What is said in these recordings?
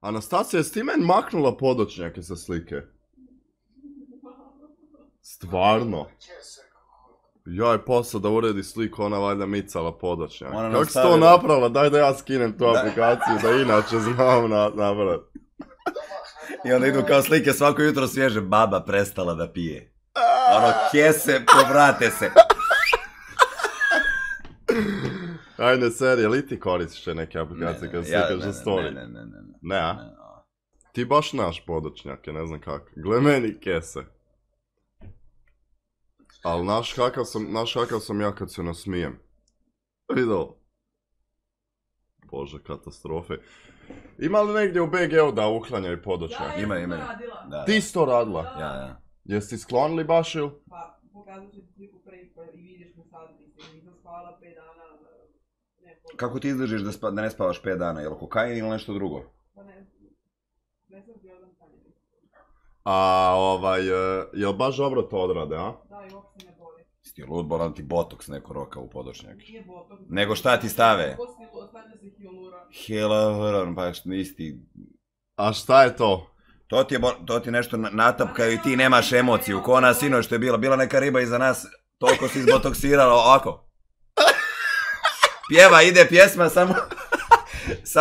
Anastasija, jesi ti meni maknula podočnjake sa slike? Stvarno? Joj, posao da uredi sliku, ona valjda micala podočnjak. Kako si to napravila? Daj da ja skinem tu aplikaciju, da inače znam napraviti. I onda idu kao slike svako jutro svježe, baba prestala da pije. Ono, kese, povrate se. Ajde, serije, li ti koristiš neke aplikacije kad slikaš za story? Ne, a? Ti baš naš podočnjake, ne znam kako. Gle meni kese. Ali naš kakav sam ja kad se nasmijem. Vidio? Bože, katastrofe. Ima li negdje u BG-u da uklanjaju podočnjak? Ima. Ti si to radila? Ja. Jesi ti sklonili baš ili? Pa, pokazat ću ti sliku prvi i vidiš me sad, nisam spavala 5 dana. Kako ti izdržiš da ne spavaš 5 dana? Je li kokain ili nešto drugo? Pa ne sam gledam tanje. Jel baš dobro to odrade, a? Da, i uopće ne boli. Sti lud, bolan ti botoks neko roka u podočnjak. Nije botoks. Nego šta ti stave? Stavlja se hialura. Hialura, pa isti. A šta je to? To ti nešto natapkaju i ti nemaš emociju. Ko ona sinoć što je bila neka riba iza nas, toliko si izbotoksirala ovako. Pjeva, ide pjesma,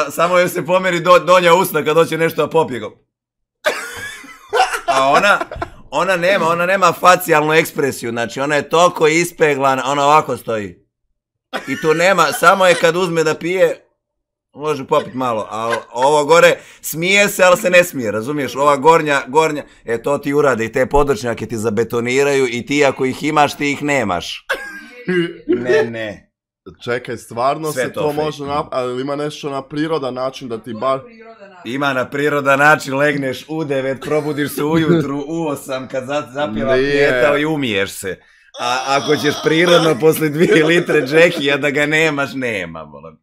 samo joj se pomeri donja usna kad hoće nešto da popije. A ona nema facijalnu ekspresiju, znači ona je toliko ispeglana, ona ovako stoji. I tu nema, samo je kad uzme da pije, može popit malo, a ovo gore smije se, ali se ne smije, razumiješ? Ova gornja, to ti urade i te podočnjake ti zabetoniraju i ti ako ih imaš, ti ih nemaš. Ne. Čekaj, stvarno se to može napraviti, ali ima nešto na prirodan način da ti bar... Ima na prirodan način, legneš u 9, probudiš se ujutru u 8 kad zapjeva pjetao i umiješ se. A ako ćeš prirodno posle 2 litre džekija da ga nemaš, nema, bolan.